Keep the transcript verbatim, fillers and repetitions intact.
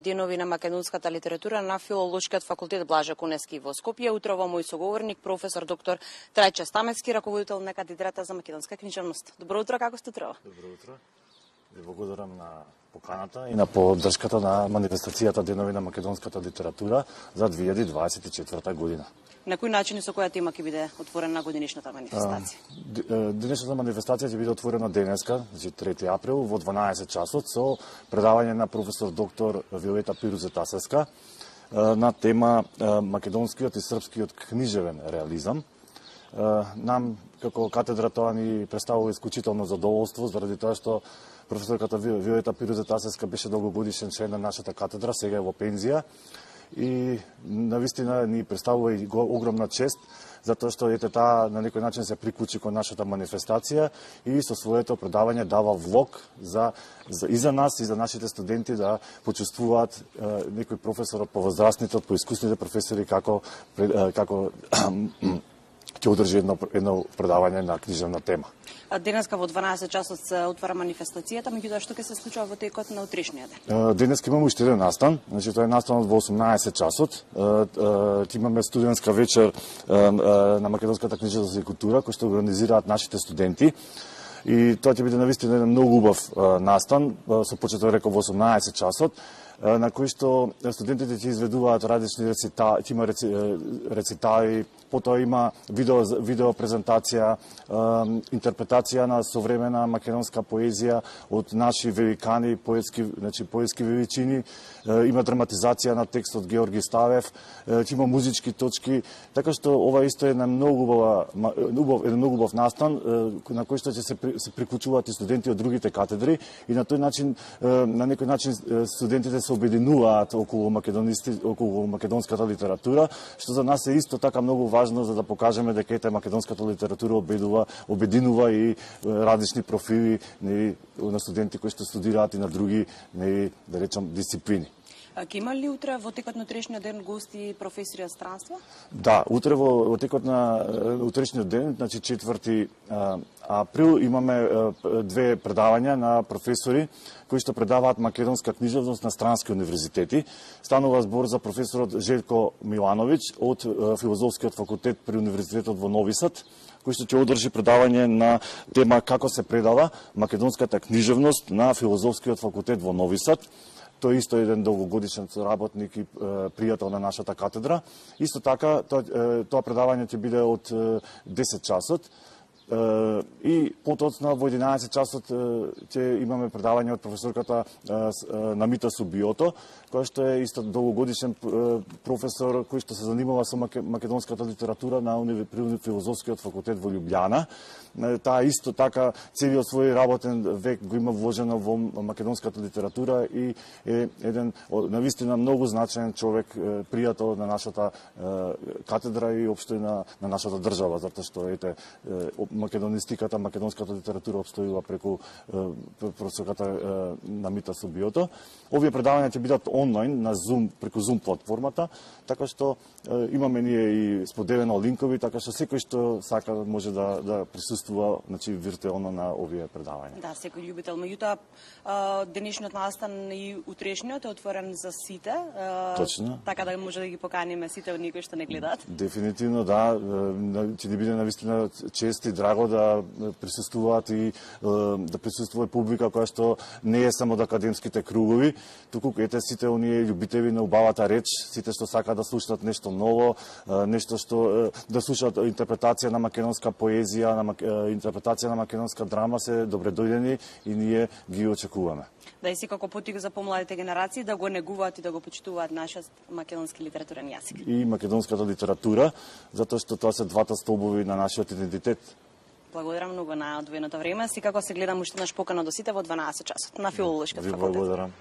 Денови на македонската литература на Филолошкиот факултет Блаже Конески во Скопје. Утрово мој соговорник, професор доктор Трајче Стамецки, раководител на катедрата за македонска книжевност. Добро утро, како сте утрово? Добро утро. Ви благодарам на поканата и на поддршката на манифестацијата Денови на македонската литература за две илјади дваесет и четврта година. На кој начин и со која тема ќе биде отворена годинишната манифестација? Денешната манифестација ќе биде отворена денеска, значи трети април, во дванаесет часот, со предавање на професор доктор Виолета Пирузетасевска на тема македонскиот и српскиот книжевен реализам. Нам, како катедра, тоа ни представува исклучително задоволство, заради тоа што професорката Виолета Пирузетасевска беше долгогодишен член на нашата катедра, сега е во пензија. И навистина ни представува и огромна чест, затоа што ете таа на некој начин се приклучи кон нашата манифестација и со своето предавање дава влог за, за и за нас и за нашите студенти да почувствуваат е, некој професор од повозрастните, од поискусните професори како е, како ќе одржи едно едно предавање на книжевна тема. Денеска во дванаесет часот се отвара манифестацијата, меѓутоа што ќе се случува во текот на утрешниот ден? Денеска имаме уште еден настан, значи тоа е настанот во осумнаесет часот. Ќе имаме студентска вечер на македонската книжевност и култура кој што организираат нашите студенти. И тоа ќе биде навистина еден многу убав настан, со почеток реков во осумнаесет часот, на кој што студентите ќе изведуваат различни рецитали, ќе има рецитали, потоа има видео, видео презентација, интерпретација на современа македонска поезија од наши великани, поетски, значи поетски величини, има драматизација на текст од Георги Ставев, ќе има музички точки, така што ова исто е една многу убава, убав, еден многу убав настан на кој што ќе се, се приклучуваат и студенти од другите катедри и на тој начин, на некој начин студентите се обединуваат околу македонисти, околу македонската литература, што за нас е исто така многу важно за да покажеме дека ете македонската литература обедува, обединува и различни профили не, на студенти кои што студираат и на други, не, да речам, дисциплини. Ке има ли утре во текот на утрешниот ден гости, професори од странство? Да, утре во, во текот на утрешниот ден, значи четврти април, имаме две предавања на професори кои што предаваат македонска книжевност на странски универзитети. Станува збор за професорот Желко Милановиќ од Филозофскиот факултет при Универзитетот во Нови Сад, кој што ќе одржи предавање на тема како се предава македонската книжевност на Филозофскиот факултет во Нови Сад. Тој исто е еден долгогодишен соработник и е, пријател на нашата катедра. Исто така, тоа, е, тоа предавање ќе биде од е, десет часот. Uh, и потоцна во единаесет часот ќе имаме предавање од професорката uh, uh, Намита Субиото, која што е исто долгогодишен uh, професор кој што се занимава со македонската литература на уни... Филозофскиот факултет во Љубљана. Uh, таа исто така целиот свој работен век го има вложено во македонската литература и е еден навистина многу значаен човек, uh, пријател на нашата uh, катедра и општо и на, на нашата држава, затоа што ете uh, македонистиката, македонската литература обстојува преку професорката Намита Субиото. Овие предавања ќе бидат онлайн на Zoom, преку Zoom платформата, така што е, имаме ние и споделено линкови, така што секој што сака може да, да присуствува, значи виртуелно на овие предавања. Да, секој љубител. Меѓутоа, денешниот настан и утрешниот е отворен за сите. Точно. Така да може да ги поканиме сите од кои што не гледаат. Дефинитивно, да. Ќе ни биде навистина чест и драго да присуствуваат и да присуствува и публика која што не е само од академските кругови, туку ете сите оние љубители на убавата реч, сите што сакаат да слушнат нешто ново, нешто што да слушаат интерпретација на македонска поезија, на интерпретација на македонска драма, се добре дојдени и ние ги очекуваме. Да и секако потик за помладите генерации да го негуваат и да го почитуваат нашиот македонски литературен јазик. И македонската литература, затоа што тоа се двата столбови на нашиот идентитет. Благодарам многу на одвоеното време. Секако се гледам уште наш покана до сите во дванаесет часот на Филолошкиот факултет. Ви благодарам.